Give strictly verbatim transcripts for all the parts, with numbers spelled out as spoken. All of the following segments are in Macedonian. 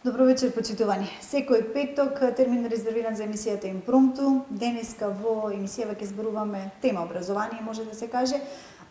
Добро вечер, почитувани. Секој петок термин резервиран за емисијата Импромту. Денеска во емисијава ќе зборуваме тема образование, може да се каже,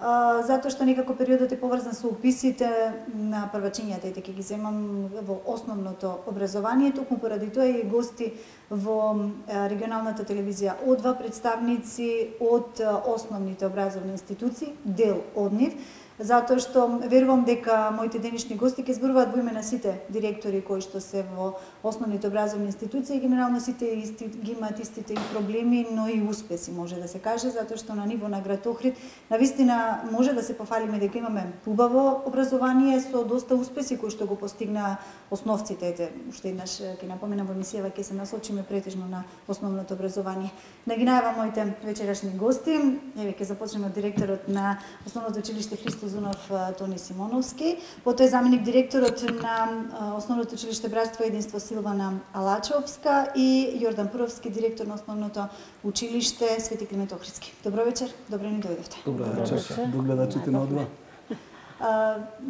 затоа што некако периодот е поврзан со уписите на првачињата и ќе ги земам во основното образование. Токму поради тоа и гости во регионалната телевизија од два представници од основните образовни институции, дел од нив, затоа што верувам дека моите денешни гости ќе зборуваат во име на сите директори кои што се во основните образовни институции, генерално сите исти, ги имаат истите и проблеми, но и успеси, може да се каже, затоа што на ниво на град Охрид навистина може да се пофалиме дека имаме убаво образование со доста успеси кои што го постигна основците. Ете, уште еднаш ќе напоменам во емисијава ќе се насочиме претежно на основното образование. Да ги најавам моите вечерашни гости. Еве ќе започнеме од директорот на Основното училиште Христо Зунов Тони Симоновски, потоа е заменик директорот на Основното училиште Братство и единство Силвана Алачовска и Јордан Пуровски, директор на Основното училиште Свети Климент Охридски. Добро вечер, добро ни дојдовте. Добро вечер, до гледачите на одва.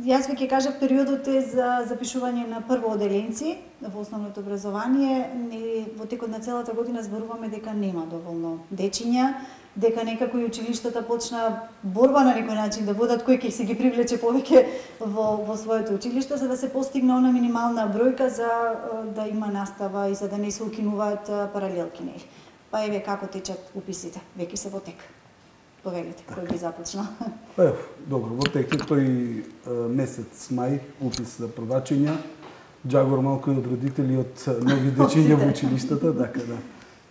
Јас ви ќе кажав, периодот е за запишување на прво оделенци во основното образование и во текот на целата година зборуваме дека нема доволно дечиња, дека некако и училиштата почна борба на некој начин да водат кој ќе се ги привлече повеќе во, во своето училиште, за да се постигне она минимална бројка за да има настава и за да не се укинуваат паралелки нели. Па еве како течат уписите, веќе се во тек. Повелите, кој би започнал? Е, добро, во тек е тој месец мај, упис за првачиња, джагор малку и од родители од нови дечиња во училиштата, така да.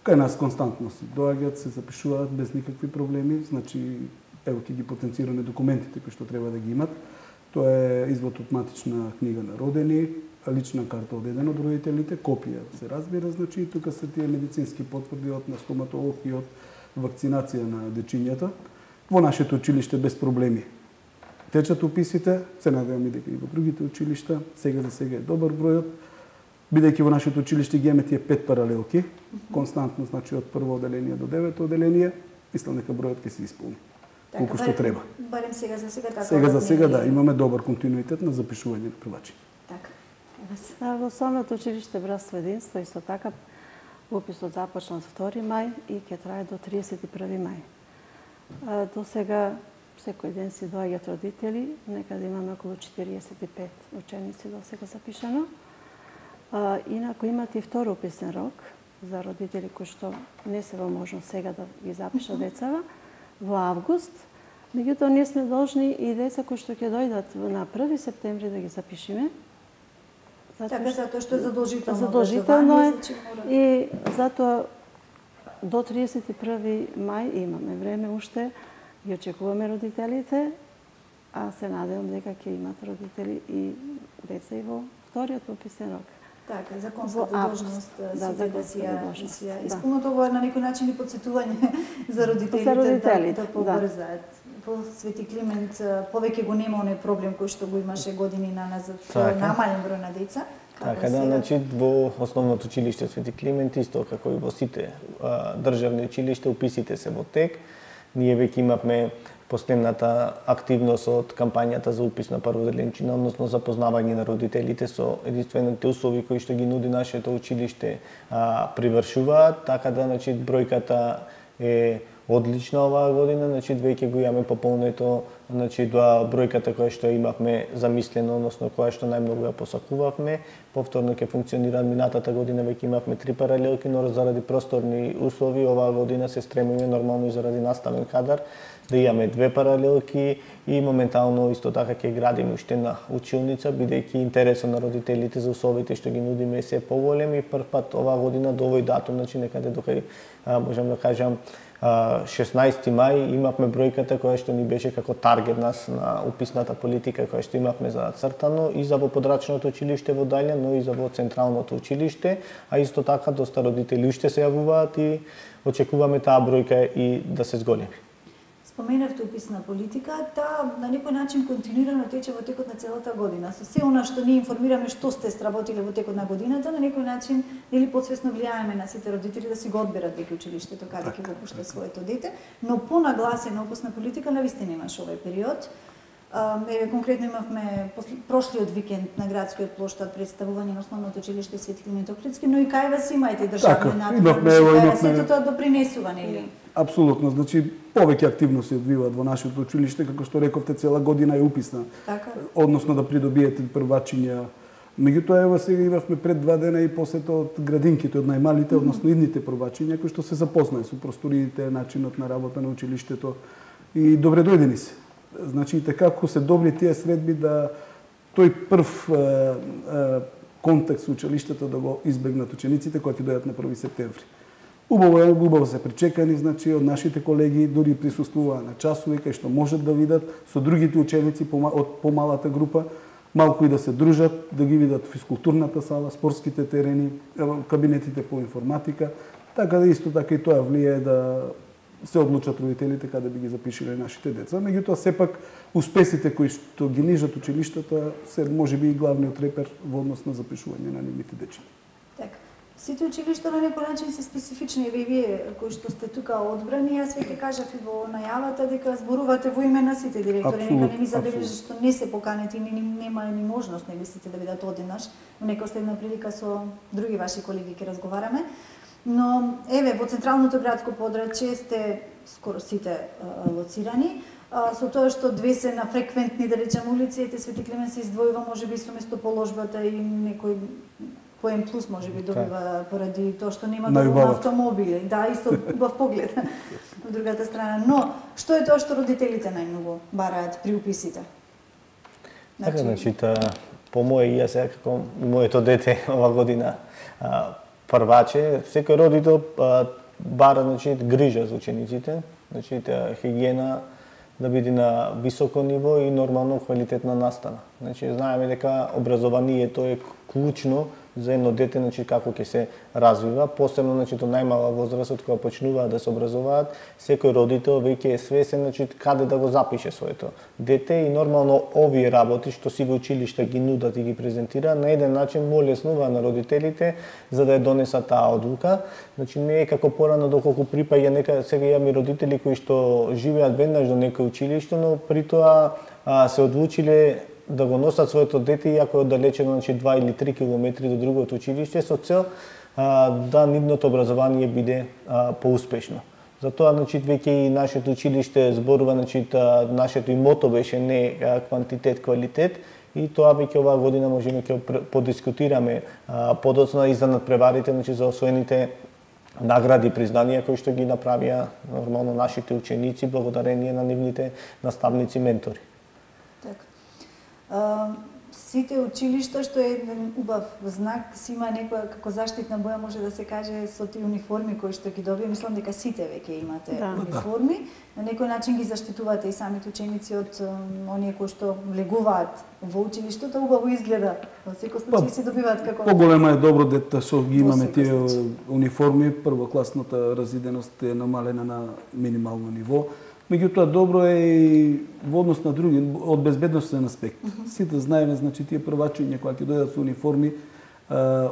Кај нас константно се доаѓаат, се запишуваат без никакви проблеми, значи ево ќе ги потенцираме документите кои што треба да ги имат. Тоа е извод од матична книга на родени, лична карта од еден од родителите, копија се разбира, значи и тука се тие медицински потврди од на стоматолог и од вакцинација на дечињата. Во нашето училиште без проблеми течат уписите, се надевам и дека и во другите училишта, сега за сега е добар бројот, бидејќи во нашето училиште ги имаме тие пет паралелки, константно, значи од прво оделение до девето оделение, мислам дека бројот ќе се исполни. Така, колку што треба. Барем сега за сега така. Сега за сега да, имаме добар континуитет на запишување на првачи. Така. Во Основното училиште Братство и единство исто така уписот започна од втори мај и ќе трае до триесет и први мај. До сега секој ден си доаѓаат родители, некаде имаме околу четириесет и пет ученици до сега запишано. Инаку имате и втор уписен рок за родители кои што не се во можност сега да ги запишат децава во август. Меѓутоа ние сме должни и деца кои што ќе дојдат на први септември да ги запишеме. Така, затоа што е задолжително. Задолжително е и затоа до триесет и први мај имаме време уште, ги очекуваме родителите, а се надевам дека ќе имат родители и деца и во вториот уписен рок. Така, законската должност да, да, да си ја исполнат. Ова е на некој начин и подсетување за родителите, за родителите да, да побрзаат. Во Свети Климент повеќе го нема оној проблем кој што го имаше години на назад, намален број на деца. Така да, значи во Основното училиште Свети Климент исто како и во сите а, државни училишта уписите се во тек. Ние веќе имавме последната активност од кампањата за упис на прводеленчина, односно запознавање на родителите со единствените услови кои што ги нуди нашето училиште а, привршуваат, така да значи бројката е одлична оваа година, значи веќе го имаме пополнето, значи тоа бројката која што имавме замислено, односно која што најмногу ја посакувавме. Повторно ќе функционира минатата година, веќе имавме три паралелки, но заради просторни услови оваа година се стремиме нормално и заради наставен кадар да имаме две паралелки и моментално исто така ќе градиме уште една училница, бидејќи интересот на родителите за условите што ги нудиме се поголем и прв пат оваа година до овој датум, значи некаде докај можам да кажам шеснаесети мај имавме бројката која што ни беше како таргет нас на уписната политика која што имавме зацртано и за во подрачното училиште во Даља, но и за во централното училиште, а исто така доста родители уште се јавуваат и очекуваме таа бројка и да се зголеми. споменавте уписна политика, таа на некој начин континуирано тече во текот на целата година. Со се она што ние информираме што сте сработиле во текот на годината, на некој начин или подсвесно влијаеме на сите родители да си го одберат веќе училиштето каде ќе го пушта своето дете, но понагласена уписна политика навистина имаше овој период. Еве конкретно имавме прошлиот викенд на градскиот плоштад представување на основното училиште Свети Климент Охридски, но и кај вас имајте државни надпревари. Сето тоа допринесува, нели? Апсолутно, значи повеќе активно се одвиваат во нашето училиште, како што рековте, цела година е уписна. Така. Односно да придобиете првачиња. Меѓутоа ево сега имавме пред два дена и посета од градинките, од најмалите, односно идните првачиња кои што се запознаe со просториите, начинот на работа на училиштето и добре дојдени се. Значи и така како се добри тие средби да тој прв е, е, контакт со училиштето да го избегнат учениците кои ќе дојдат на први септември. Убаво е, убаво се причекани, значи од нашите колеги дури присуствуваа на часови кај што можат да видат со другите ученици од помалата група, малку и да се дружат, да ги видат физкултурната сала, спортските терени, кабинетите по информатика, така да исто така и тоа влијае да се одлучат родителите каде би ги запишиле нашите деца. Меѓутоа сепак успесите кои што ги нижат училиштата се можеби и главниот репер во однос на запишување на нивните дечиња. Така. Сите училишта на некој начин се специфични, еве вие кои што сте тука одбрани, јас веќе кажав и во најавата дека зборувате во име на сите директори, нека не ми забележи што не се поканети, ни нема ни можност нели сите да бидат одеднаш, во некоја следна прилика со други ваши колеги ќе разговараме. Но еве во централното градско подрачје сте скоро сите лоцирани. Со тоа што две се на фреквентни, да речем, улици, ете Свети Климент се издвојува можеби со местоположбата и некој поен плюс можеби добива поради тоа што нема доволно автомобили. Да, исто убав поглед од другата страна. Но што е тоа што родителите најмногу бараат при уписите? Така, значи, по моje и јас како моето дете ова година прваче, секој родител бара, значи, грижа за учениците, значи, хигиена да биде на високо ниво и нормално квалитетна настава. Значи, знаеме дека образованието е клучно за едно дете, значи, како ќе се развива, посебно, значи, до најмала возраст, од кога почнуваат да се образуваат, секој родител веќе е свесен, значи, каде да го запише своето дете и нормално овие работи што сите училишта ги нудат и ги презентира, на еден начин му леснува на родителите за да ја донесат таа одлука. Значи, не е како порано доколку припаѓа нека сега имаме родители кои што живеат веднаш до некој училиште, но при тоа а, се одлучиле да го носат своето дете, иако е оддалечено, значи, два или три километри до другото училиште, со цел а, да нивното образование биде а, поуспешно. Затоа, значи, веќе и нашето училиште зборува, значи, та, нашето и мото беше не квантитет, квалитет, и тоа веќе оваа година можеме ќе подискутираме а, подоцна и за надпреварите, значи, за освоените награди и признанија кои што ги направија нормално нашите ученици благодарение на нивните наставници, ментори. Така. Uh, сите училишта, што е еден убав знак, си има некоја како заштитна боја, може да се каже, со тие униформи кои што ги добија. Мислам дека сите веќе имате да. униформи. На некој начин ги заштитувате и самите ученици од um, оние кои што влегуваат во училиштето, убаво изгледа. Во секој случај си добиваат како поголема е добро дете што ги имаме тие униформи, првокласната разиденост е намалена на минимално ниво. Меѓутоа добро е и во однос на други, од безбедносен аспект. Uh -huh. Сите знаеме, значи, тие првачиња кои ќе дојдат со униформи,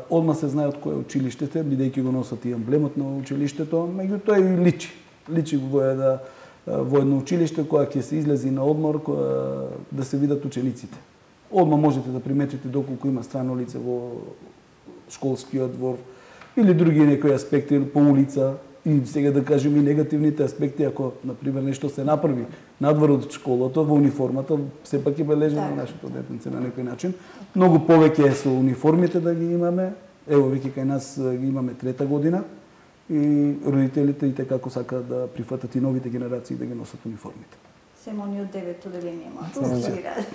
одма се знае од кој е училиштето, бидејќи го носат и емблемот на училиштето, меѓутоа и личи. Личи во да во едно училиште кога ќе се излези на одмор, кога да се видат учениците. Одма можете да приметите доколку има страно лице во школскиот двор или други некои аспекти по улица. И сега да кажем и негативните аспекти, ако, например, нешто се направи надвор од школата, во униформата, сепак ќе бележиме на нашето детенце на некој начин. Многу повеќе е со униформите да ги имаме. Ево, веќе кај нас ги имаме трета година и родителите и така како сакаат да прифатат и новите генерации да ги носат униформите. Семо они од девет оделение малку студираат.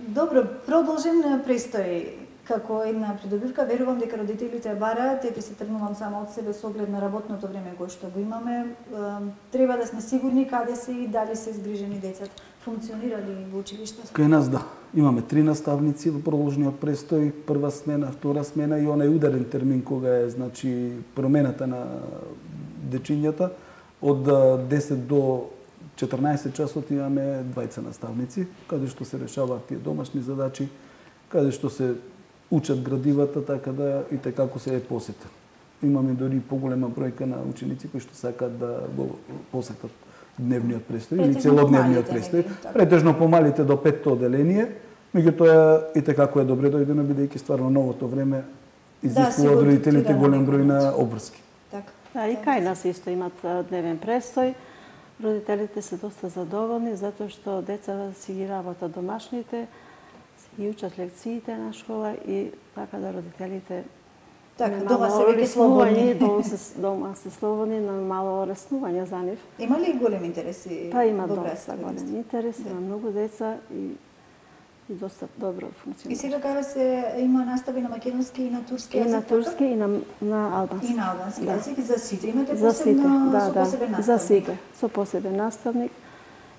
Добро, продолжен престој. Како една придобивка, верувам дека родителите бараат, ете се тргнувам само од себе со оглед на работното време кое што го имаме. Треба да сме сигурни каде се и дали се згрижени децата. Функционира ли во училиштето? Кај нас да. Имаме три наставници во продолжниот престој, прва смена, втора смена и онај ударен термин кога е, значи, промената на дечињата. Од десет до четрнаесет часот имаме двајца наставници, каде што се решаваат тие домашни задачи, каде што се учат градивата, така да и така како се е посета. Имаме дори поголема бројка на ученици кои што сакаат да го посетат дневниот престој или целодневниот престој. Претежно помалите до петто оделение, меѓутоа и така е добре дојдено бидејќи стварно новото време изискува од родителите голем број на обврски. Така. Да, и кај нас исто имат дневен престој. Родителите се доста задоволни затоа што децата си ги работат домашните, си ги учат лекциите на школа и така да родителите така, дома се веќе слободни. Дома се, дома се слободни, на мало реснување за нив. Има ли голем интереси? Па има доста голем интерес, има многу деца и и доста добро функционира. И сега кај се има настави на македонски и на турски јазик? И на турски и на, на албански. И на албански јазик, да. За сите имате за посебно, сите, да, со да, посебен наставник? За сите, со посебен наставник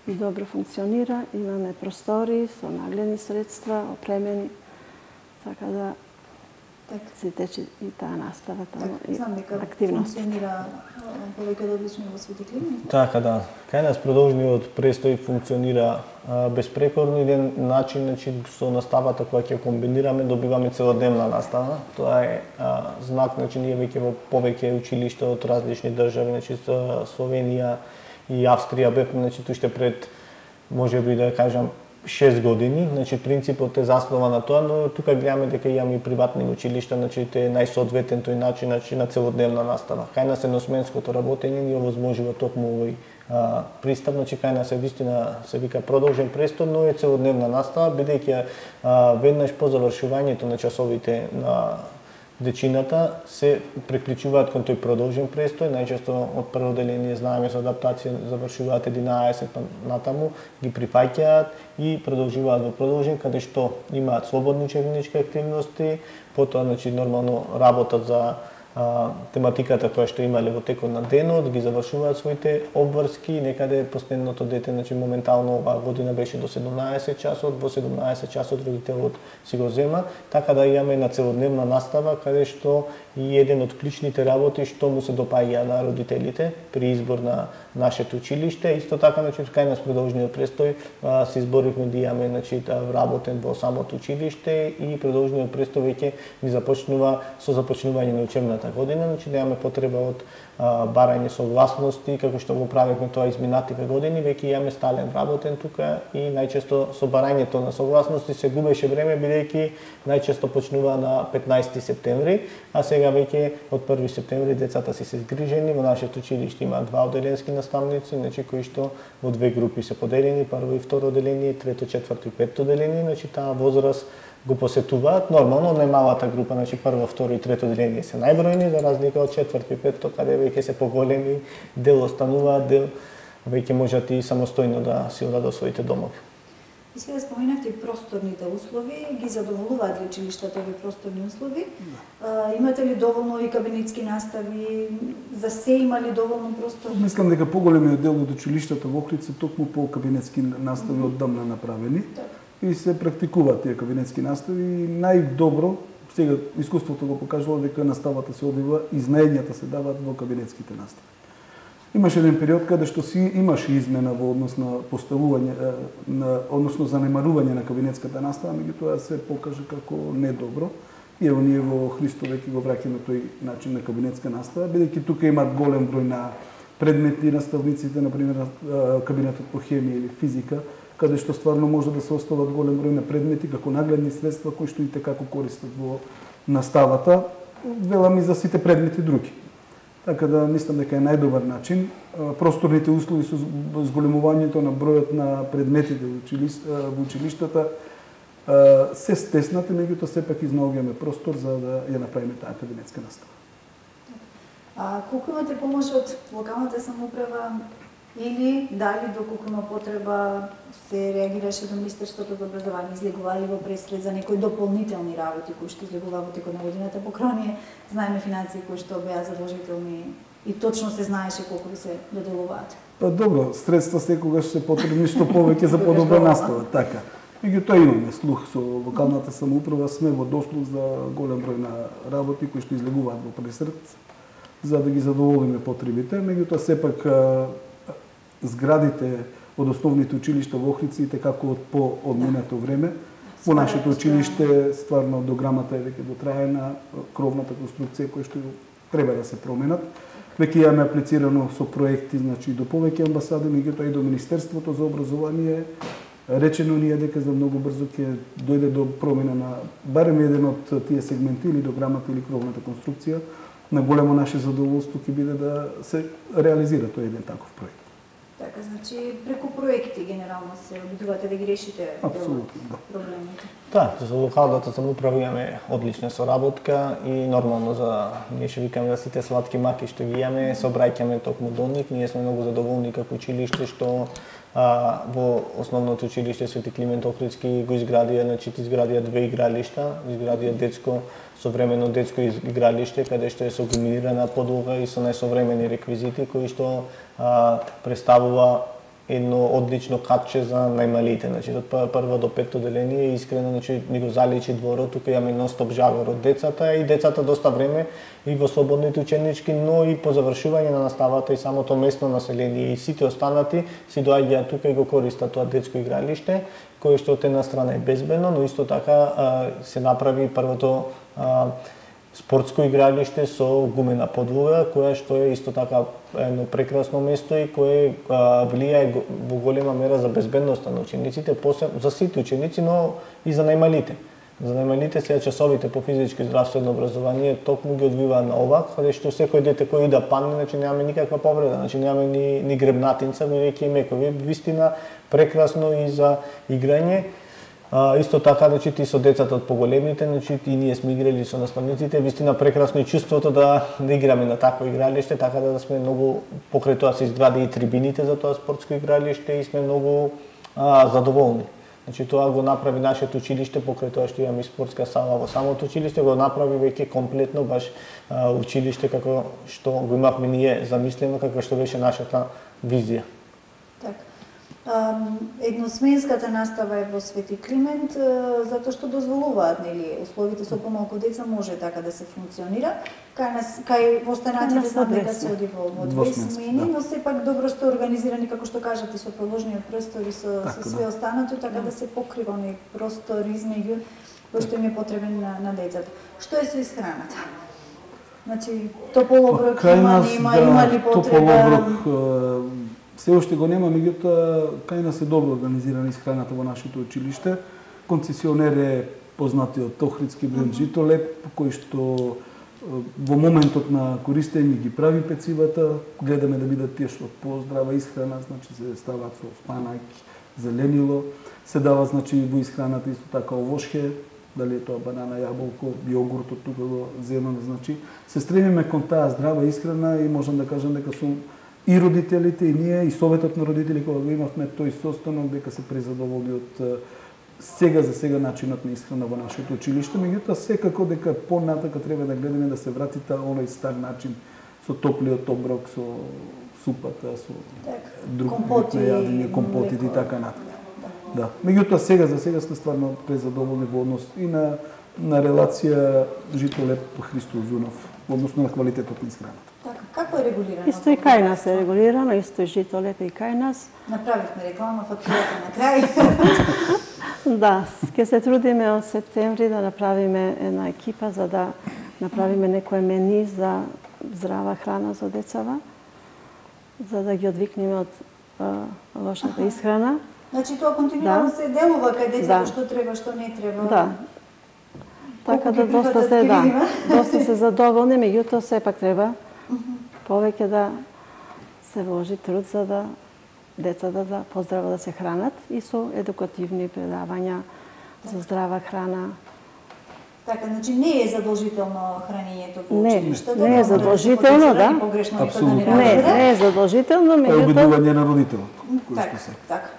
и добро функционира. Имаме простори со нагледни средства, опремени, така да се тече и таа настава таму и активност. Функционира повеќе одлично во Свети Климент. Така да. Кај нас продолжниот престој функционира а, безпрекорно еден начин, значи со наставата која ќе комбинираме добиваме целодневна настава. Тоа е а, знак, значи ние веќе во повеќе училишта од различни држави, значи со Словенија и Австрија бевме, значи уште пред можеби да кажам шест години, значи принципот е заснова на тоа, но тука гледаме дека имаме и приватни училишта, значи те најсоодветен тој начин, значи на целодневна настава. Кај нас едносменското работење ни овозможува токму овој а, пристап, значи кај нас е вистина се вика продолжен престој, но е целодневна настава, бидејќи веднаш по завршувањето на часовите на дечината се приклучуваат кон тој продолжен престој, најчесто од прво деление знаеме со адаптација завршуваат единаесет натаму, ги прифаќаат и продолжуваат во продолжен каде што имаат слободни учебнички активности, потоа значи нормално работат за а, тематиката која што имале во текот на денот, ги завршуваат своите обврски, некаде последното дете, значи моментално оваа година беше до седумнаесет часот, во седумнаесет часот родителот си го зема, така да имаме една целодневна настава каде што и еден од клучните работи што му се допаѓа на родителите при избор на нашето училиште. Исто така, значи, кај нас продолжниот престој а, се изборивме да имаме значи, работен во самото училиште и продолжниот престој веќе ни започнува со започнување на учебната година, значи да имаме потреба од а, барање согласности, како што го правевме тоа изминативе години, веќе имаме стален работен тука и најчесто со барањето на согласности се губеше време бидејќи најчесто почнува на петнаесети септември, а сега веќе од први септември децата си се згрижени. Во нашето училиште има два оделенски наставници, значи кои што во две групи се поделени, прво и второ оделение, трето, четврто и петто оделение, значи таа возраст го посетуваат. Нормално најмалата група, значи прво, второ и трето оделение се најбројни, за разлика од четврто и петто, каде веќе се поголеми, дел остануваат, дел веќе можат и самостојно да си одат своите домови. И сега споменавте просторните услови, ги задоволуваат ли училиштата овие просторни услови? А, имате ли доволно и кабинетски настави? За се има ли доволно простор? Мислам дека поголемиот дел од училиштата во Охрид се токму по кабинетски настави оддамна направени. И се практикуваат тие кабинетски настави и најдобро, сега искуството го покажува дека наставата се одвива и знаењата се даваат во кабинетските настави. Имаше еден период каде што си имаше измена во однос на поставување на односно занемарување на кабинетската настава, меѓутоа се покажа како недобро. И ево ние во Христо веќе го враќаме тој начин на кабинетска настава, бидејќи тука имаат голем број на предметни наставниците, на пример кабинетот по хемија или физика, каде што стварно може да се остават голем број на предмети како нагледни средства кои што и како користат во наставата, велам и за сите предмети други. Така да мислам дека е најдобар начин. Просторните услови со зголемувањето на бројот на предметите во училиштата се стеснати, меѓутоа сепак изнаоѓаме простор за да ја направиме таа кабинетска настава. А колку имате помош од локалната самоуправа или дали доколку има потреба се реагираше до Министерството за образование, излегували во пресред за некои дополнителни работи кои што излегува во текот на годината, покроње знаеме финансии кои што беа задолжителни и точно се знаеше колку се доделуваат. Па добро, средства секогаш се потребни што повеќе за подобра настава, така. Меѓутоа имаме слух со локалната самоуправа, сме во дослух за голем број на работи кои што излегуваат во пресред. за да ги задоволиме потребите. Меѓутоа сепак зградите од основните училишта во Охридци како од по одминато време. Во нашето училиште стварно дограмата е веќе дотраена, кровната конструкција која што треба да се променат. Веќе имаме аплицирано со проекти, значи до повеќе амбасади, меѓутоа и до Министерството за образование. Речено ни е дека за многу брзо ќе дојде до промена на барем еден од тие сегменти или дограмата или кровната конструкција. На големо наше задоволство ќе биде да се реализира тој еден таков проект. Така, значи преку проекти генерално се обидувате да ги решите Апсолутно, да. проблемите. Да, за локалната самоуправа имаме одлична соработка и нормално за ние ще викаме за сите сладки маки што ги имаме, се обраќаме токму до нив. Ние сме многу задоволни како училиште што а, во основното училиште Свети Климент Охридски го изградија, значи изградија две игралишта, изградија детско современо детско игралиште каде што е со комбинирана подлога и со најсовремени реквизити кои што а, представува едно одлично катче за најмалите. Значи од прво до петто деление искрено значи ни го заличи дворот, тука имаме нон-стоп жагор од децата и децата доста време и во слободните ученички, но и по завршување на наставата и самото местно население и сите останати си доаѓаат тука и го користат тоа детско игралиште, кое што од една страна е безбедно, но исто така а, се направи првото а, спортско игралиште со гумена подлога, која што е исто така едно прекрасно место и кое а, влијае во голема мера за безбедноста на учениците, посебно за сите ученици, но и за најмалите. За најмалите сега часовите по физичко и здравствено образование токму ги одвиваа на овак, каде што секој дете кој и да падне, значи немаме никаква повреда, значи немаме ни, ни гребнатинца, веќе и мекови, вистина прекрасно и за играње. А, исто така, значи, и со децата од поголемите, значи, и ние сме играли со наставниците, вистина прекрасно и чувството да, да играме на такво игралиште, така да сме многу, покрај тоа се изгради и трибините за тоа спортско игралиште и сме многу а, задоволни. Значи, тоа го направи нашето училиште, покрај тоа што имаме и спортска сала во самото училиште, го направи веќе комплетно баш а, училиште како што го имавме ние замислено, како што беше нашата визија. Така. Едносменската настава е во Свети Климент, затоа што дозволуваат, нели, условите со помалку деца може така да се функционира. Кај нас, кај останатите знам дека се оди во, во две смени, да. Но сепак добро што организирани, како што кажате, со продолжниот простор и со, така, со све да. Останато, така да, да се покрива оној простор измеѓу кој што им е потребен на, на децата. Што е со исхраната? Значи, топол оброк има, нема, да, има ли потреба? Се уште го нема, меѓутоа кај нас е добро организирана исхраната во нашето училиште. Концесионер е познатиот Охридски бренд Житолеп, кој што во моментот на користење ги прави пецивата, гледаме да бидат тие што поздрава исхрана, значи се ставаат со спанаки, зеленило, се дава значи во исхраната исто така овошје, дали е тоа банана, јаболко, јогуртот тука го земаме, значи се стремиме кон таа здрава исхрана и можам да кажам дека сум и родителите, и ние, и советот на родители, кога го имавме тој состанок, дека се презадоволни од сега за сега начинот на исхрана во нашето училиште, меѓутоа секако дека понатака треба да гледаме да се врати та оној стар начин со топлиот оброк, со супата, со друг вид на јадење, компотите и така натаму. Да. Меѓутоа сега за сега сме стварно презадоволни во однос и на на релација Житолеп Христо Узунов во однос на квалитетот на исхраната. Така, како е регулирано? Исто и кај нас е регулирано, исто и Житолеп и кај нас. Направивме реклама, фактурата на крај. Да, ќе се трудиме од септември да направиме една екипа за да направиме некој мени за здрава храна за децава, за да ги одвикнеме од а, лошата исхрана. Значи тоа континуирано да. Се делува кај децата, да. Што треба, што не треба. Да. Така да доста се да, доста се задоволни, меѓутоа сепак треба повеќе да се вложи труд за да децата да поздраво да се хранат и со едукативни предавања за здрава храна. Така, значи не е задолжително хранењето во училиштето? Не, не е задолжително, да. Апсолутно. Не, не е задолжително, меѓутоа обидување на родителот. Така, така.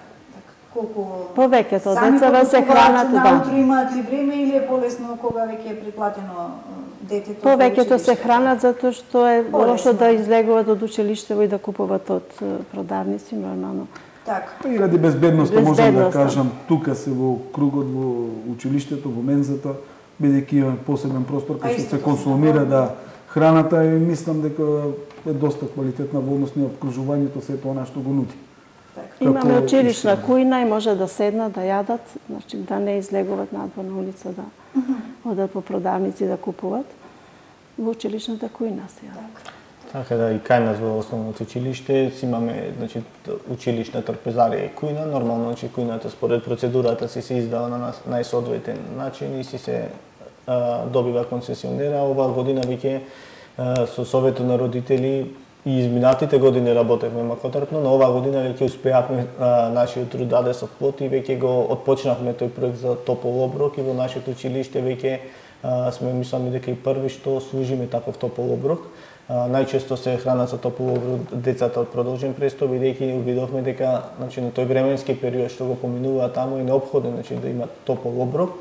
Колку повеќето децата се хранат, да. Наутро имаат ли време или е полесно кога веќе е предплатено детето? Повеќето се хранат затоа што е лошо да излегуваат од училиштето и да купуваат од продавници нормално. Така. И ради безбедноста можам да кажам, тука се во кругот во училиштето, во мензата, бидејќи имаме посебен простор кај што се консумира да Храната и мислам дека е доста квалитетна во однос на обкружувањето, се тоа што го нуди. Имаме училишна кујна и може да седнат, да јадат, значи да не излегуваат надвор на улица, да одат по продавници да купуват. Во училишната кујна се јадат. Така да и кај нас во основното училиште си имаме, значи, училишна трпезарија и кујна. Нормално, значи, кујната според процедурата си се издава на најсоодветен начин и си се а, добива концесионера. Оваа година веќе со Советот на родители и изминатите години работевме макотрпно, но оваа година веќе успеавме а, нашиот труд даде со плод и веќе го отпочнавме тој проект за топол оброк и во нашето училиште веќе а, сме мислам дека и први што служиме таков топол оброк. А, најчесто се хранат со топол оброк децата од продолжен престол, бидејќи увидовме дека, значи, на тој временски период што го поминува таму е неопходно, значи, да има топол оброк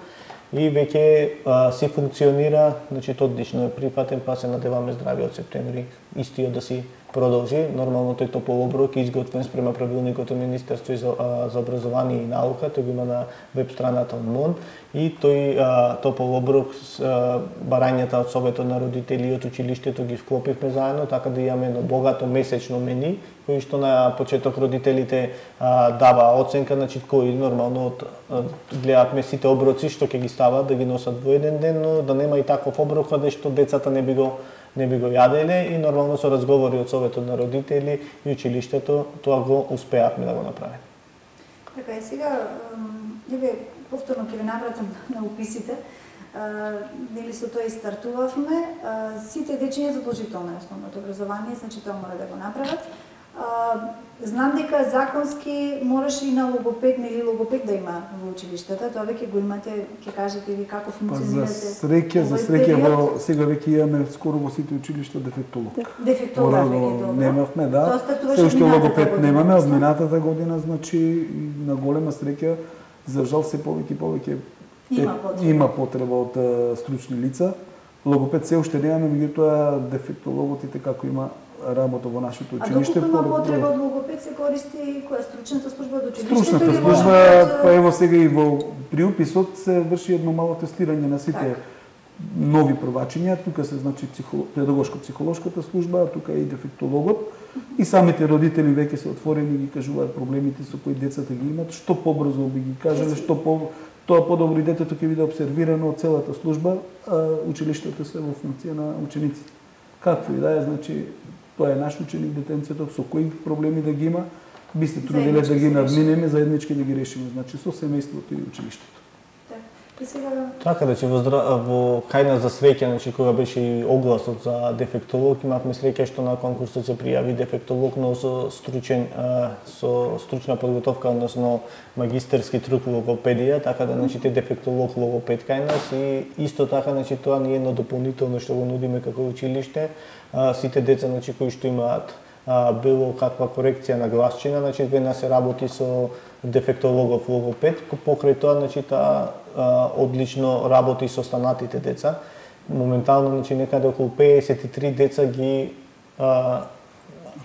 и веќе си функционира, значи, одлично е прифатен, па се надеваме здравиот септември истиот да си продолжи. Нормално тој топол оброк е изготвен спрема правилникот од Министерство за, за образование и наука, тој го има на веб страната од МОН и тој а, топол оброк с а, барањата од Советот на родители и од училиштето ги вклопивме заедно, така да имаме едно богато месечно мени, кој што на почеток родителите а, дава оценка, значи кои нормално од, гледавме сите оброци што ќе ги стават да ги носат во еден ден, но да нема и таков оброк каде што децата не би го не би го јаделе и нормално со разговори од Советот на родители и училиштето тоа го успеавме да го направиме. Така и сега, еве повторно ќе ве навратам на уписите. Нели со тоа и стартувавме. Сите дечиња задолжително е основното образование, значи тоа мора да го направат. Знам дека законски мораш и на логопед, нели логопед да има во училиштата, тоа веќе го имате, ќе кажете ви како функционирате. За среќа, за среќа во сега веќе имаме скоро во сите училишта дефектолог. Дефектолог веќе добро. Немавме, да. Се уште логопед немаме, од минатата година, значи на голема среќа, за жал се повеќе и повеќе има потреба, има потреба од стручни лица. Логопед се уште немаме, меѓутоа дефектологот и како има работа во нашето училиште. А доколку има потреба од логопед се користи која стручната служба од училиштето? Стручната служба, па ево сега и во приуписот се врши едно мало тестирање на сите так. Нови првачиња, тука се значи психолог, педагошко-психолошката служба, тука е и дефектологот и самите родители веќе се отворени и ги кажуваат проблемите со кои децата ги имат, што побрзо би ги кажале, што по тоа подобро и детето ќе биде обсервирано од целата служба, а училиштата се во функција на учениците. Какво и да е, значи тоа е наш ученик детенцето, со кои проблеми да ги има, би се трудиле да ги надминеме, заеднички да ги решиме, значи со семејството и училиштето. И сега... Така да, че во, во кај нас за среќа, значи кога беше и огласот за дефектолог, имавме среќа што на конкурсот се пријави дефектолог, но со стручен со стручна подготовка, односно магистерски труд логопедија, така да значи те дефектолог логопед кај нас и исто така значи тоа ни е едно дополнително што го нудиме како училиште. Сите деца значи кои што имаат било каква корекција на гласчина, значи веднаш се работи со дефектологов логопед, покрај тоа значи таа одлично работи со останатите деца. Моментално значи некаде околу педесет и три деца ги а,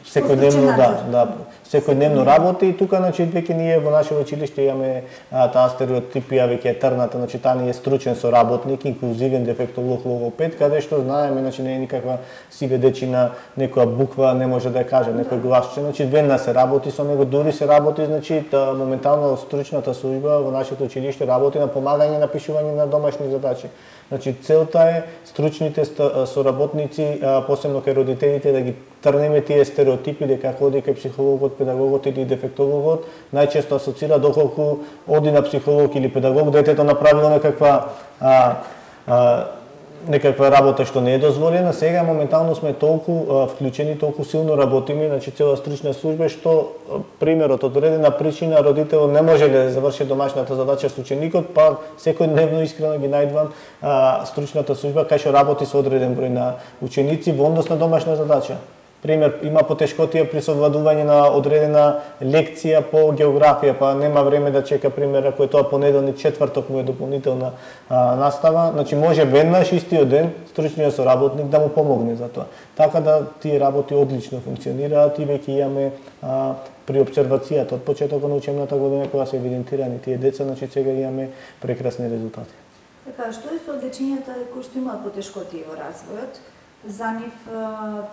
секојдневно да, да, секојдневно работи и тука значи веќе ние во наше училиште имаме а, таа стереотипија веќе е трната, значи таа не е стручен соработник, инклузивен дефектолог логопед, каде што знаеме, значи не е никаква сиведечина, некоја буква не може да ја каже, некој гласче, значи веднаш се работи со него, дури се работи, значи та, моментално стручната служба во нашето училиште работи на помагање на пишување на домашни задачи. Значи целта е стручните соработници, посебно кај родителите, да ги трнеме тие стереотипи дека ако оди кај психологот, педагогот или дефектологот, најчесто асоцира доколку оди на психолог или педагог, детето направило некаква а, а, некаква работа што не е дозволена. Сега моментално сме толку а, вклучени, толку силно работиме, значи цела стручна служба што примерот од одредена причина родител не може да заврши домашната задача со ученикот, па секојдневно искрено ги најдвам а, стручната служба кај што работи со одреден број на ученици во однос на домашна задача. Пример, има потешкотија при совладување на одредена лекција по географија, па нема време да чека, пример, ако е тоа понеделник, четврток му е дополнителна а, настава, значи може веднаш истиот ден стручниот соработник да му помогне за тоа. Така да тие работи одлично функционираат и веќе имаме а, при обсервацијата од почетокот на учебната година кога се евидентирани тие деца, значи сега имаме прекрасни резултати. Така, што е со дечињата кои што имаат потешкотии во развојот? За нив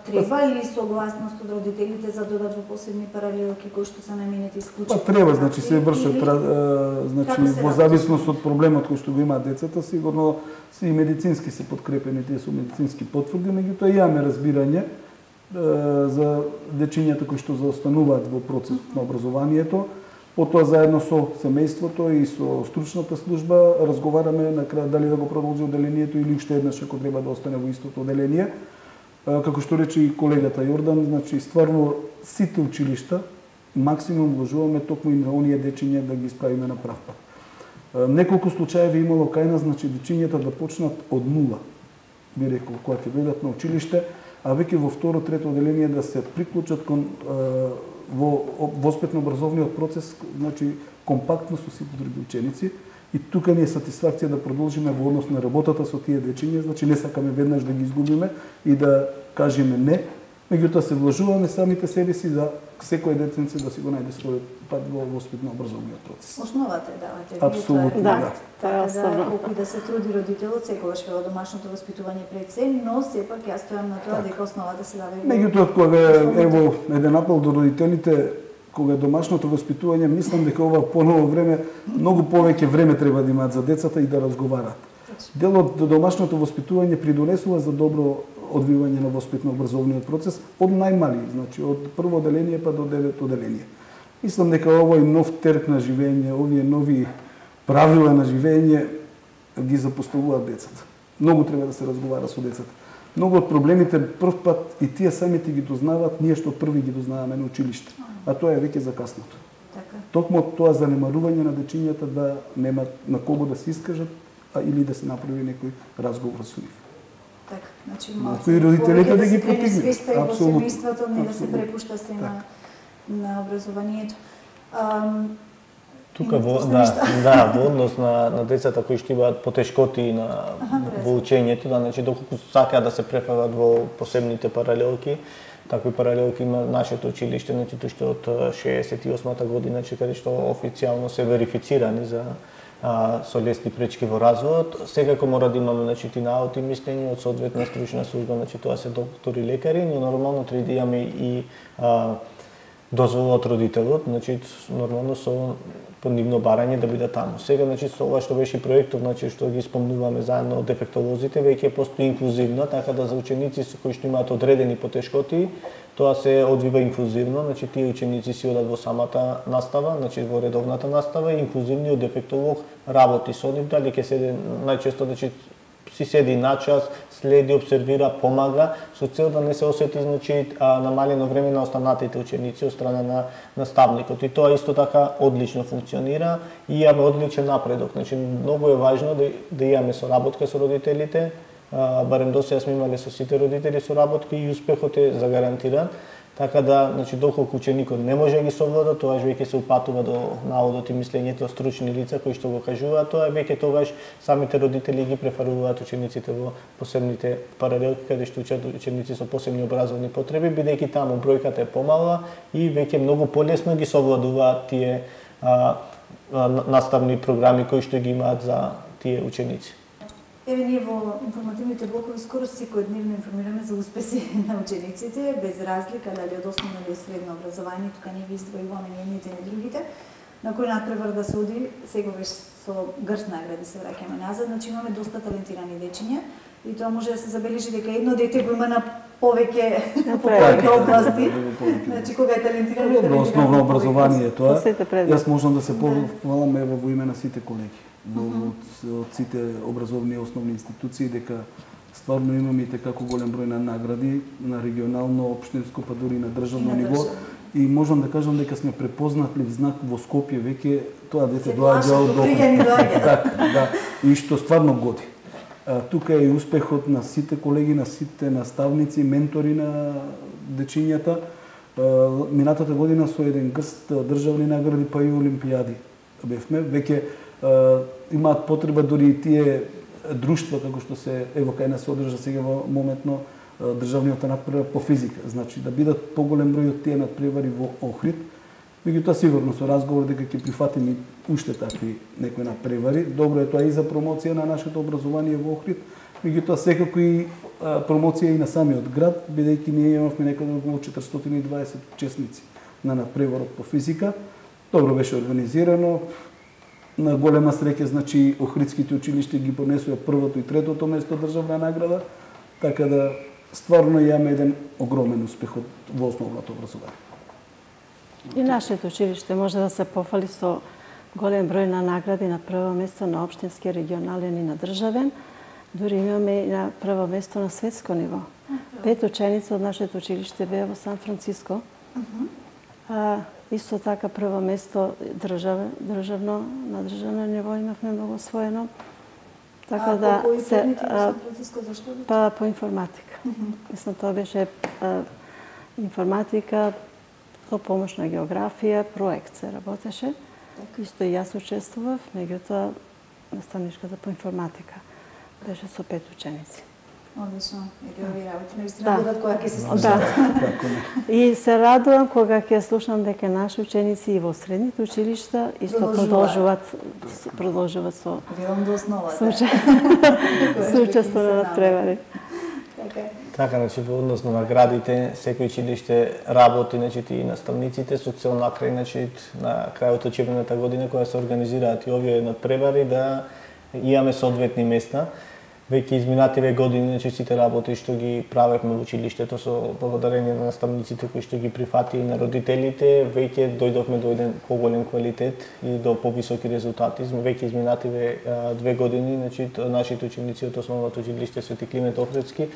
треба ли согласност од родителите за додат во посебни паралелки кои што се наменети исклучително? Па треба, значи се вршат, значи во зависност од проблемот кој што го имаат децата, сигурно се и медицински се подкрепени, тие се медицински потврди, меѓутоа имаме разбирање за дечињата кои што заостануваат во процесот на образованието. Потоа заедно со семејството и со стручната служба разговараме на крај дали да го продолжи оделението или уште еднаш ако треба да остане во истото оделение. Како што рече и колегата Јордан, значи стварно сите училишта максимум вложуваме токму и на оние дечиња да ги исправиме на прав пат. Неколку случаеви имало кај нас, значи дечињата да почнат од нула. Би рекол, кога ќе дојдат на училиште, а веќе во второ, трето оделение да се приклучат кон во воспитно-образовниот процес, значи компактно со сите други ученици, и тука ни е сатисфакција да продолжиме во однос на работата со тие дечиња, значи не сакаме веднаш да ги изгубиме и да кажеме не, меѓутоа се вложуваме самите себе си за секој детенце да си го најде својот пат во воспитно-образовниот процес. Основата е давате. Апсолутно, да. Така да, колку да се труди родителот, секогаш вело домашното воспитување пред се, но сепак јас стојам на тоа дека основата се дава. Меѓутоа, кога ево еден апел до родителите, кога домашното воспитување, мислам дека ова поново време многу повеќе време треба да имаат за децата и да разговараат. Делот до домашното воспитување придонесува за добро одвивање на воспитно-образовниот процес од најмали, значи од прво оделение па до девето оделение. Мислам дека овој нов терк на живење, овие нови правила на живење ги запоставуваат децата. Многу треба да се разговара со децата. Многу од проблемите прв пат и тие самите ги дознаваат, ние што први ги дознаваме на училиште, а тоа е веќе закаснато. Така. Токму тоа занемарување на дечињата да немаат на кого да се искажат, а или да се направи некој разговор со нив. Така, значи малку и родителите да ги потигнат. Апсолутно. Во семејството не да се препушта се на на образованието. Um, Тука во да, да, во однос на на децата кои што имаат потешкоти на Аха, во учењето, да, значи доколку сакаат да се префават во посебните паралелки, такви паралелки има нашето училиште, значи тоа што од шеесет и осма година, значи каде што официјално се верифицирани за а, со лесни пречки во развојот. Секако мора да имаме значи тинаот и мислење од соодветна стручна служба, значи тоа се доктори, лекари, но нормално треба да имаме и а, дозвола од родителот, значи нормално со по нивно барање да биде таму. Сега значи со ова што беше проектот, значи што ги спомнуваме заедно од дефектолозите, веќе постои инклузивно, така да за ученици кои што имаат одредени потешкоти, тоа се одвива инклузивно, значи тие ученици си одат во самата настава, значи во редовната настава и инклузивниот дефектолог работи со нив, дали ќе седе најчесто значи си седи на час, следи, обсервира, помага, со цел да не се осети значи намалено време на останатите ученици од страна на наставникот. И тоа исто така одлично функционира и имаме одличен напредок. Значи многу е важно да, да имаме соработка со родителите, а, барем досега сме имале со сите родители соработки и успехот е загарантиран. Така да, значи, доколку ученикот не може да ги совлада, тоаш веќе се упатува до наводот и мислењето стручни лица кои што го кажуваат, тоа веќе тогаш самите родители ги префаруваат учениците во посебните паралелки каде што учат ученици со посебни образовни потреби, бидејќи таму бројката е помала и веќе многу полесно ги совладуваат тие а, а, наставни програми кои што ги имаат за тие ученици. Еве ние во информативните блокови скоро секојдневно информираме за успеси на учениците, без разлика дали од основно или средно образование, тука не ги издвојуваме ни едните ни другите, на кој надпревар да се оди, секогаш со грст награди се враќаме назад, значи имаме доста талентирани дечиња и тоа може да се забележи дека едно дете го има на повеќе по повеќе области. Значи кога е талентиран, добро основно образование тоа. Јас можам да се похвалам ево во име на сите колеги. Од, од сите образовни основни институции, дека стварно имаме и како голем број на награди на регионално, општинско, па дури на државно ниво. И можам да кажам дека сме препознатлив знак во Скопје, веќе тоа дете доаѓа од дома. Така, да, и што стварно годи. А, тука е и успехот на сите колеги, на сите наставници, ментори на дечињата. А, минатата година со еден грст државни награди, па и олимпијади бевме. Веќе имаат потреба дури и тие друштва како што се ево кај нас се одржа сега во моментно државниот надпревар по физика, значи да бидат поголем број од тие надпревари во Охрид. Меѓутоа сигурно со разговор дека ќе прифатиме уште такви некои надпревари. Добро е тоа и за промоција на нашето образование во Охрид, Меѓутоа секако и промоција и на самиот град, бидејќи ние имавме некаде околу четиристотини и дваесет учесници на надпреварот по физика. Добро беше организирано. На голема среќа, значи, Охридските училишта ги понесоа првото и третото место државна награда, така да стварно имаме еден огромен успех во основното образование. И нашето училиште може да се пофали со голем број на награди на прво место на општински, регионален и на државен. Дури имаме и на прво место на светско ниво. Пет ученици од нашето училиште беа во Сан Франциско. А, исто така прво место држав, државно, на државно ниво имавме многу освоено. Така а, да по се Сан Франциско зашто? Па по информатика. Uh -huh. Мислам тоа беше а, информатика, со помош на географија, проект се работеше. Так. Исто и јас учествував, меѓутоа наставничката по информатика беше со пет ученици. Одлично. Ети овие работи наистина будат кога ќе се слушнат. Да. И се радувам кога ќе слушам дека наши ученици и во средните училишта исто продолжуваат продолжуваат со велам до основата. Со учество на надпревари. Така. Така, значи во однос на наградите, секој училиште работи, значи и наставниците со цел на крај, значи на крајот од учебната година кога се организираат и овие надпревари да имаме соодветни места. Веќе изминативе години, значи сите работи што ги правевме во училиштето со благодарение на наставниците кои што ги прифати и на родителите, веќе дојдовме до еден поголем квалитет и до повисоки резултати. Веќе изминативе две години, значи нашите ученици од основното училиште Свети Климент Охридски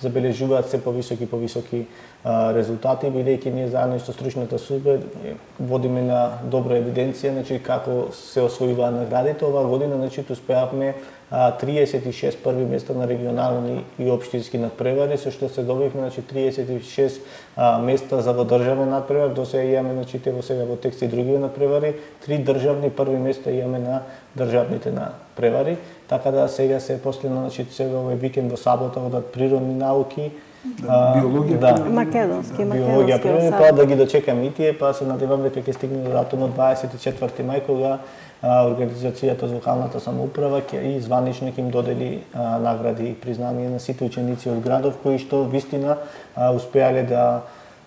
забележуваат се повисоки повисоки резултати, бидејќи ние заедно со стручната служба водиме на добра евиденција, значи како се освојуваат наградите. Оваа година, значи успеавме триесет и шест први места на регионални и општински надпревари, со што се добивме, значи триесет и шест а, места за во државен надпревар, до сега имаме, значи во сега во текст и други надпревари, три државни први места имаме на државните надпревари, така да сега се последно, значи сега овој викенд во сабота одат природни науки, да, биологија, да, македонски, биологија, природни, па да ги дочекаме и тие, па се надевам дека ќе стигне до датумот дваесет и четврти мај, кога организацијата за локалната самоуправа ќе и званично ќе им додели а, награди и признание на сите ученици од градов кои што вистина а, успеале да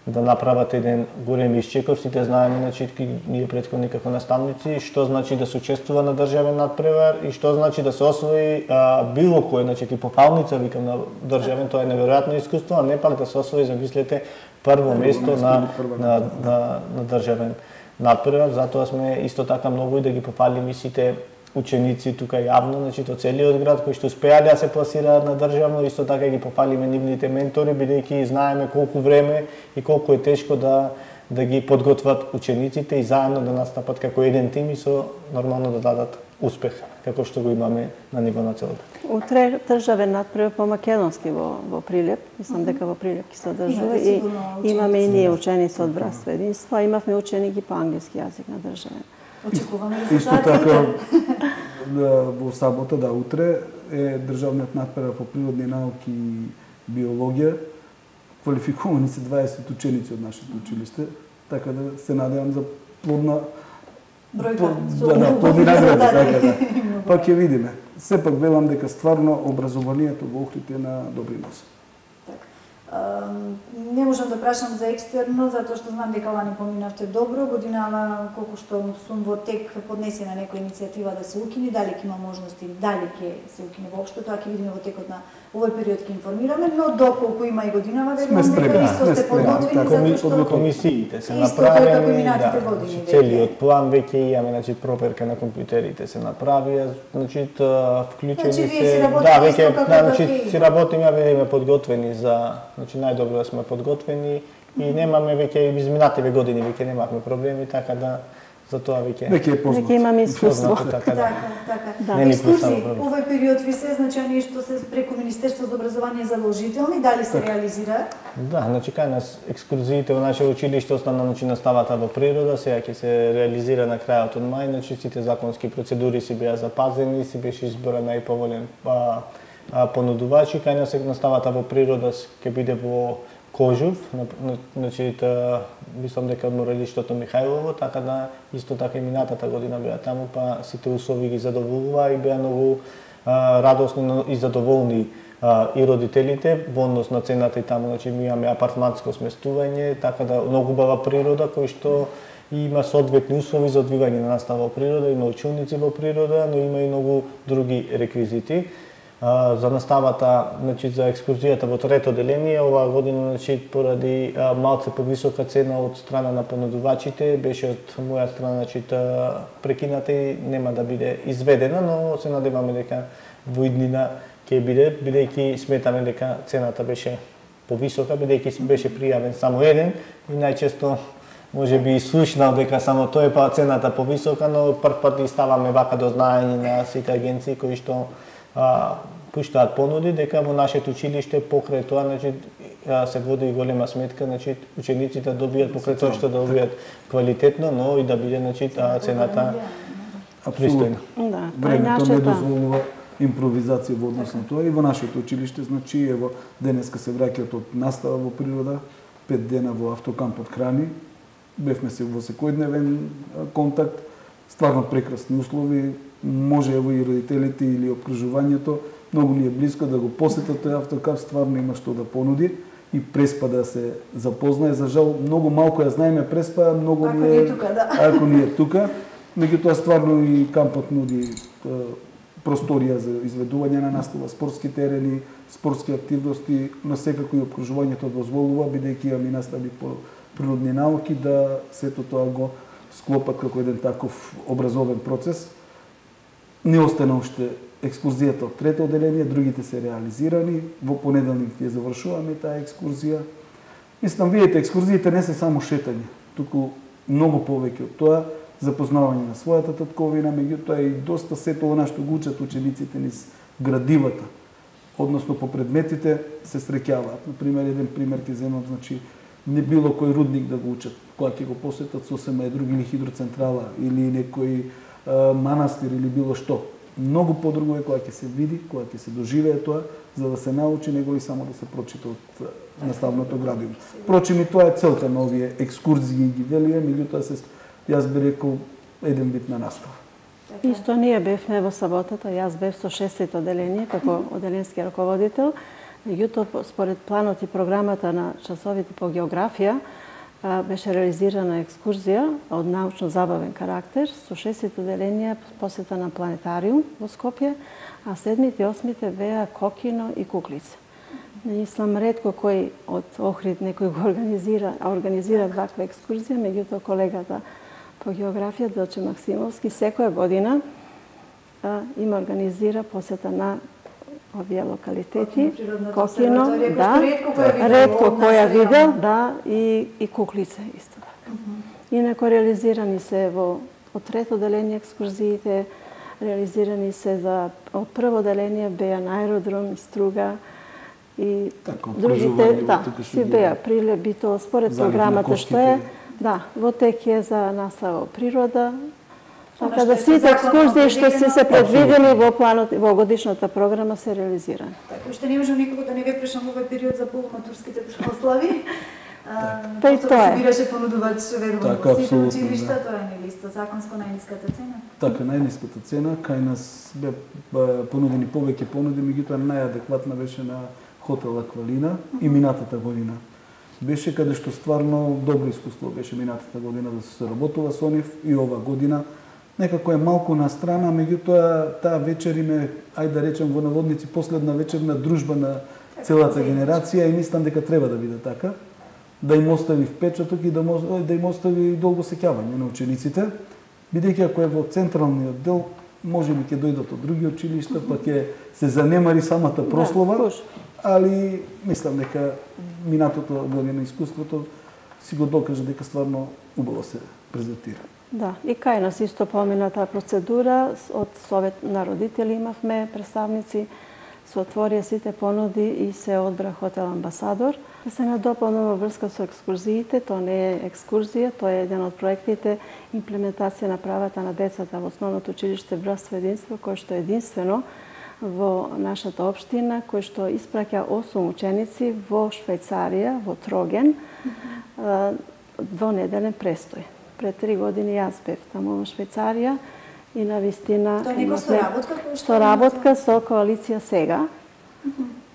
да направат еден голем исчекор. Сите знаеме, значи ние претходни како наставници што значи да се учествува на државен надпревар и што значи да се освои а, било кој, значи типо палница викам на државен, тоа е неверојатно искуство, а не пак да се освои, замислете, прво место на на на, на државен надпревар. Затоа сме исто така многу и да ги пофалиме сите ученици тука јавно, значи од целиот град кои што успеале да се пласираат на државно, исто така ги пофалиме нивните ментори, бидејќи знаеме колку време и колку е тешко да да ги подготват учениците и заедно да настапат како еден тим и со нормално да дадат успех, како што го имаме на ниво на целата. Утре државен надпревар по македонски во во Прилеп, мислам дека во Прилеп ќе се одржува и имаме и ние ученици од Братство Единство, а имавме ученици по англиски јазик на државен. Очекуваме исто така во сабота, да, утре е државниот надпревар по природни науки и биологија. Квалификувани се дваесет ученици од нашето училиште, така да се надевам за плодна бројка, да, да, плодни награди, така да. Па ќе видиме. Сепак велам дека стварно образованието во Охрид е на добри носи. Не можам да прашам за екстерно, затоа што знам дека лани поминавте добро. Годинава, колку што сум во тек, поднесена некоја иницијатива да се укине, дали ќе има можности, дали ќе се укине воопшто, тоа ќе видиме во текот на овој период, ќе информираме, но доколку има и годинава, верувам дека исто сте подготвени, затоа што комисиите се направени, да, целиот план веќе имаме, значи проверка на компјутерите се направија, значи вклучени се, да, веќе, значи си работиме, ја видиме подготвени за, значи најдобро да сме подготвени и немаме веќе изминативе години веќе немавме проблеми, така да за тоа веќе веќе е познато. Веќе имаме искуство. Така, така. така. Да. Екскурзии, овој период ви се значи што се преку Министерство за образование задолжителни, дали се реализира? Да, значи кај нас екскурзиите во наше училиште основно значи наставата во природа, сега ќе се реализира на крајот од мај, значи сите законски процедури си беа запазени, си беше избора најповолен па понудувачи. Кај нас наставата во природа ќе биде во Кожув, значи та мислам дека од Моралиштото Михајлово, така да исто така и минатата година беа таму, па сите услови ги задоволува и беа многу а, радосни и задоволни а, и родителите во однос на цената и таму, значи ми имаме апартманско сместување, така да многу убава природа кој што има соодветни услови за одвивање на настава во природа, има училници во природа, но има и многу други реквизити. А, за наставата, значи за екскурзијата во трето деление оваа година, значи поради а, малце повисока цена од страна на понудувачите, беше од моја страна, значи прекината и нема да биде изведена, но се надеваме дека во иднина ќе биде, бидејќи сметаме дека цената беше повисока, бидејќи беше пријавен само еден и најчесто може би и слушнал дека само тој па цената повисока, но прв пат и ставаме вака до знаење на сите агенции кои што а, пуштаат понуди дека во нашето училиште покрај тоа, значи се води и голема сметка, значи учениците добијат покрај тоа што да добијат квалитетно, но и да биде, значи цената пристојна. Да, времето не дозволува импровизација во однос на тоа и во нашето училиште, значи ево денеска се враќаат од настава во природа, пет дена во автокамп од Храни. Бевме се во секојдневен контакт, стварно прекрасни услови, може ево и родителите или опкружувањето, многу ни е близко да го посетат тој автокамп, стварно има што да понуди и Преспа да се запознае. За жал, многу малку ја знаеме Преспа, многу ако ни е, не е тука, да. Ако не е тука, меѓутоа стварно и кампот нуди просторија за изведување на настава, спортски терени, спортски активности, но секако и опкружувањето дозволува, бидејќи имаме настави по природни науки, да сето тоа го склопат како еден таков образовен процес. Не остана уште екскурзијата од трето одделение, другите се реализирани. Во понеделник ја завршуваме таа екскурзија. Мислам, видите, екскурзиите не се само шетање, туку многу повеќе од тоа, запознавање на својата татковина, меѓутоа и доста сето она што го учат учениците низ градивата, односно по предметите се среќаваат. Например, еден пример ќе земам, значи не било кој рудник да го учат, кога ќе го посетат сосема е други или хидроцентрала или некој а, манастир или било што. Многу подруго е кога ќе се види, кога ќе се доживее тоа, за да се научи, него и само да се прочита од наставното градиво. Впрочем, и тоа е целта на овие екскурзии ги велија, меѓутоа се јас би рекол еден вид на настава. Исто ние бевме во саботата, јас бев со шестото одделение како одделенски раководител. Меѓутоа, според планот и програмата на часовите по географија, беше реализирана екскурзија од научно-забавен карактер со шестото одделение посета на планетариум во Скопје, а седмите и осмите беа Кокино и Куклица. Мислам, ретко кој од Охрид некој го организира, а организира ваква екскурзија, меѓутоа колегата по географија Делче Максимовски секоја година а, има организира посета на овие локалитети, Кокино, да, ретко која видел, да, и, и Куклица исто така. Uh-huh. Инако реализирани се во од трето одделение екскурзиите, реализирани се за од прво одделение беа на аеродром, Струга и така, другите, да, си беа прилеби тоа според програмата што е, да, во тек е за настава природа. Така да сите екскурзии што се се предвидени во планот во годишната програма се реализирани. Така уште не можам никако да не ве прашам овој период за полуматурските прослави. Па и тоа е. Собираше понудувач верувам така, во сите да. училишта, тоа е нелисто законско најниската цена. Така, најниската цена, кај нас бе понудени повеќе понуди, меѓутоа најадекватна беше на хотел Аквалина и минатата година. Беше каде што стварно добро искуство беше минатата година да се работува со нив и ова година. Некако е малку на страна, меѓутоа таа вечер име, ајде да речем во наводници, последна вечер на дружба на целата генерација и мислам дека треба да биде така, да им остави впечаток и да, да им остави долго сеќавање на учениците, бидејќи ако е во централниот дел, може би ќе дојдат од други училишта, па ќе се занемари самата прослова, али мислам дека минатото година искуството си го докаже дека стварно убаво се презентира. Да, и кај нас исто помина таа процедура, од Совет на родители имавме представници, се отворија сите понуди и се одбра хотел Амбасадор. Да се надополнува врска со екскурзиите, тоа не е екскурзија, тоа е еден од проектите имплементација на правата на децата во основното училиште Братство и единство, кој што е единствено во нашата општина, кој што испраќа осум ученици во Швајцарија, во Троген, двонеделен престој. Пред три години јас бев таму во Швајцарија и на вистина тоа некој со работка? Со работка со коалиција сега,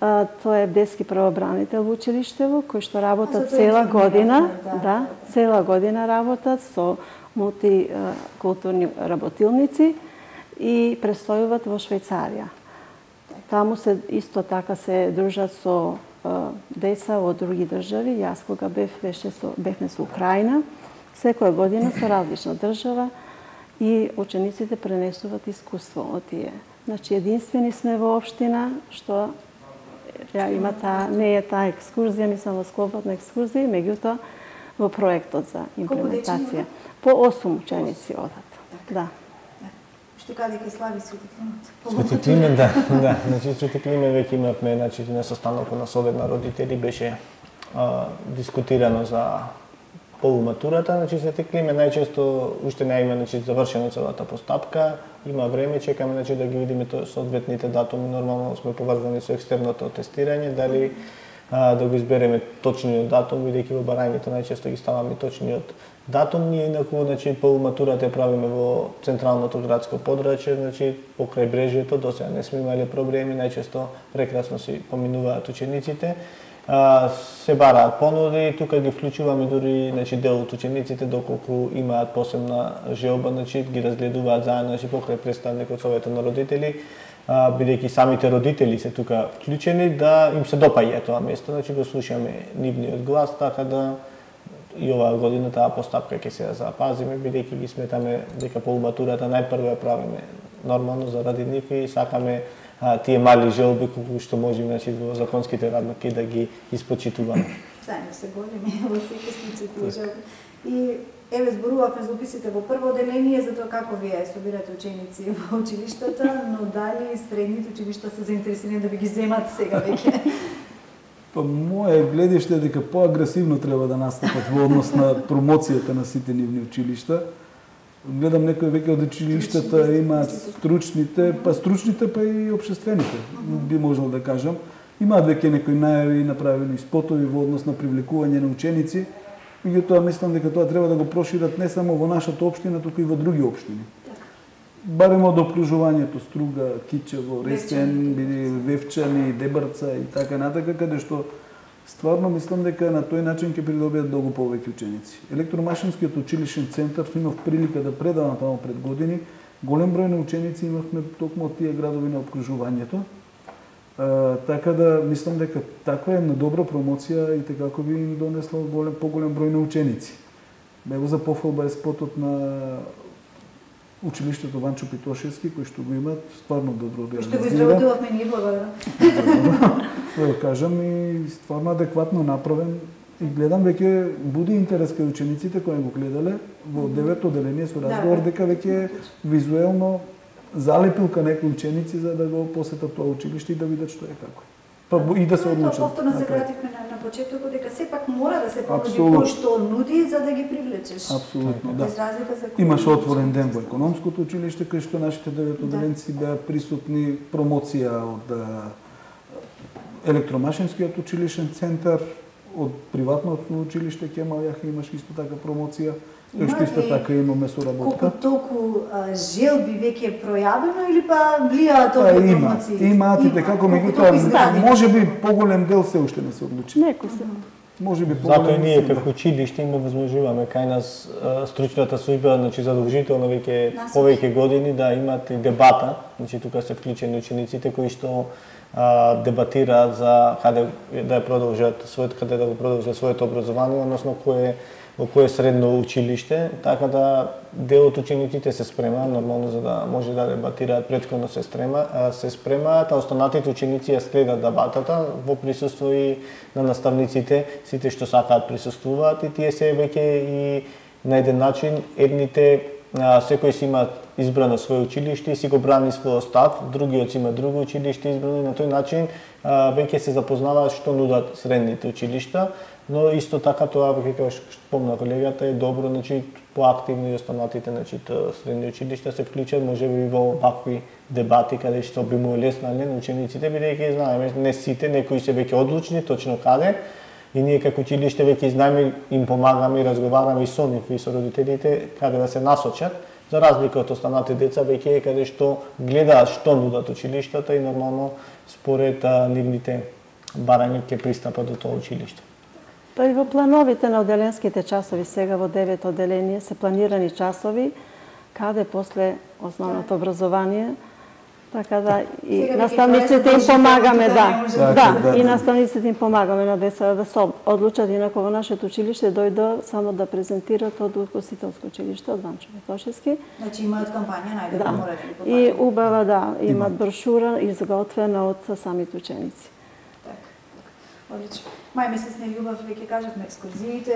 А, тоа е бдески правобранител во училиштево, кој што работат цела година, да, да, цела година работат со мултикултурни работилници и престојуват во Швајцарија. Таму се исто така се дружат со а, деца од други држави. Јас кога бев, беше со, бевме со Украина, секоја година со различна држава и учениците пренесуваат искуство од тие. Значи, единствени сме во општина што ја има таа, не е таа екскурзија, мислам во склопот на екскурзија, меѓутоа во проектот за имплементација. По осум ученици одат. Да. Што каде ке слави Свети Климент? Свети Климент, да, да. Значи Свети Климент веќе имавме, значи на состанокот на Совет на родители беше а, дискутирано за полуматурата, значи Свети Климент најчесто уште не има, значи завршена целата постапка, има време, чекаме, значи да ги видиме соодветните датуми, нормално сме поврзани со екстерното тестирање, дали а, да го избереме точниот датум, бидејќи во барањето најчесто ги ставаме точниот датум. Ние инаку, значи полуматурата ја правиме во централното градско подрачје, значи покрај брежјето, досега не сме имале проблеми, најчесто прекрасно си поминуваат учениците. А, се бараат понуди, тука ги вклучуваме дури, значи дел од учениците доколку имаат посебна желба, значи ги разгледуваат заедно, значи покрај представникот Советот на родители, а, бидејќи самите родители се тука вклучени, да им се допаѓа тоа место, значи го слушаме нивниот глас, така да и оваа година таа постапка ќе се запазиме, бидејќи ги сметаме дека полуматурата најпрво ја правиме нормално заради нив и сакаме а, тие мали желби колку што можеме, значи во законските рамки да ги испочитуваме. Заедно се големи во секој случај тие желби. И еве зборувавме за уписите во прво оделение за тоа како вие собирате ученици во училиштата, но дали средните училишта се заинтересирани да ви ги земат сега веќе? Па моје гледиште е дека поагресивно треба да настапат во однос на промоцијата на сите нивни училишта. Гледам некои веќе од училиштата имаат стручните, па стручните па и општествените, би можел да кажам. Имаат веќе некои најави, направени спотови во однос на привлекување на ученици. Меѓутоа мислам дека тоа треба да го прошират не само во нашата општина, туку и во други општини. Барем од обкружувањето Струга, Кичево, Ресен, Вевчани, Дебарца и така натака, каде што стварно мислам дека на тој начин ќе придобијат многу повеќе ученици. Електромашинскиот училишен центар имав прилика да предавам таму пред години. Голем број на ученици имавме токму од тие градови на обкружувањето. Uh, така да мислам дека таква една добра промоција и како би им донесла голем, поголем број на ученици. Него за пофалба е спотот на училиштето Ванчо Питошевски, кој што го имаат стварно добро организирано. Што го изработувавме ние, благодарам. Да го кажам, и стварно адекватно направен. И гледам веќе буди интерес кај учениците кои го гледале во девето оделение со разговор дека веќе визуелно залепилка некои ученици за да го посетат тоа училиште и да видат што е како. Па и да се одлучат. Тоа повторно се вративме на, на почетокот дека сепак мора да се понуди кој што нуди за да ги привлечеш. Апсолутно, да. Без разлика за Имаше отворен ден во економското училиште кај што нашите деветоделенци да. беа присутни, промоција од електромашинскиот училишен центар, од приватното училиште Кемал Јаха имаше исто така промоција. Тој што исто така имаме соработка. Колку толку а, желби веќе е пројавено или па влијаат толку промоции? Имаат и како меѓутоа можеби поголем дел се уште не се одлучи. Некои се. Можеби поголем. Затоа ние како училиште им возможуваме кај нас стручната служба, значи задолжително веќе повеќе години да имат и дебата, значи тука се вклучени учениците кои што а, дебатираат за каде да продолжат својот каде да го продолжат своето образование, односно кое во кое средно училиште, така да дел од учениците се спремаат нормално за да може да дебатираат, претходно се спрема, се спремаат, а останатите ученици ја следат дебатата во присуство и на наставниците, сите што сакаат присуствуваат и тие се веќе и на еден начин едните секој си има избрано своје училиште и си го брани својот став, другиот си има друго училиште избрано и на тој начин веќе се запознаваат што нудат средните училишта, но исто така тоа веќе како што спомна колегата е добро, значи поактивно и останатите, значи средни училишта се вклучат можеби во вакви дебати каде што би му леснале на учениците, бидејќи знаеме не сите, некои се веќе одлучни точно каде и ние како училиште веќе знаеме, им помагаме и разговараме и со нив и со родителите каде да се насочат, За разлика од останати деца, веќе е каде што гледаат што нудат училиштата и нормално според а, нивните барања ќе пристапат до тоа училиште. Па и во плановите на оделенските часови, сега во девет оделение, се планирани часови, каде после основното образование, така да и Сега наставниците веќе им помагаме, да, да, да, да, и да. наставниците им помагаме на децата да се одлучат, инако во нашето училиште дојдо само да презентираат од Укосителско училиште од Ванчо Ветошевски. Значи имаат кампања, најде Да. мора да ги И попадат. убава, да, имат брошура изготвена од самите ученици. Така, така. Одлично. Мај месец не љубав, веќе кажавме, екскурзиите,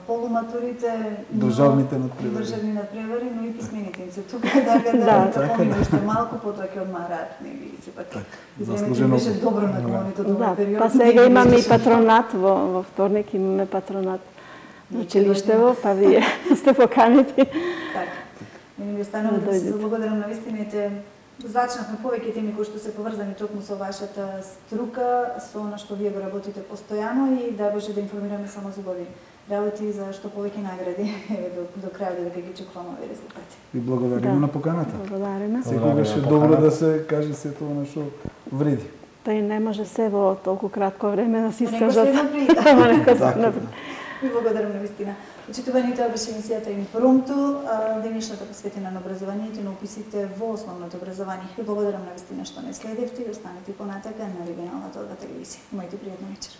полуматурите, но- Државните надпревари. државни надпревари, но и писмените им се тука, така да, Да. да поминеш уште малку, потоа ќе одмараат, нели, сепак. И времето заслужено. беше добро на колоните од Да, овој период. па сега имаме и патронат, во, во вторник имаме патронат на училиштево, па вие сте поканети. Така. Ми ви останува да се заблагодарам на вистините. Зачнавме повеќе теми кои што се поврзани токму со вашата струка, со она што вие го работите постојано и да Боже да информираме само за убави работи за што повеќе награди еве до, до крајот дека ги чекуваме овие резултати. И благодариме Да. на поканата. Благодариме. Секогаш е на добро поканата. да се каже се тоа на што вреди. Па и не може се во толку кратко време да се По некоја искажат. следна прилика. Ама нека се Така, направи. Ви благодарам на вистина. Почитувани, тоа беше емисијата Импромту, денешната посветена на образованието и на уписите во основното образование. Ви благодарам на вистина што не следевте и останете понатака на регионалната Одва телевизија. Имајте пријатна вечер.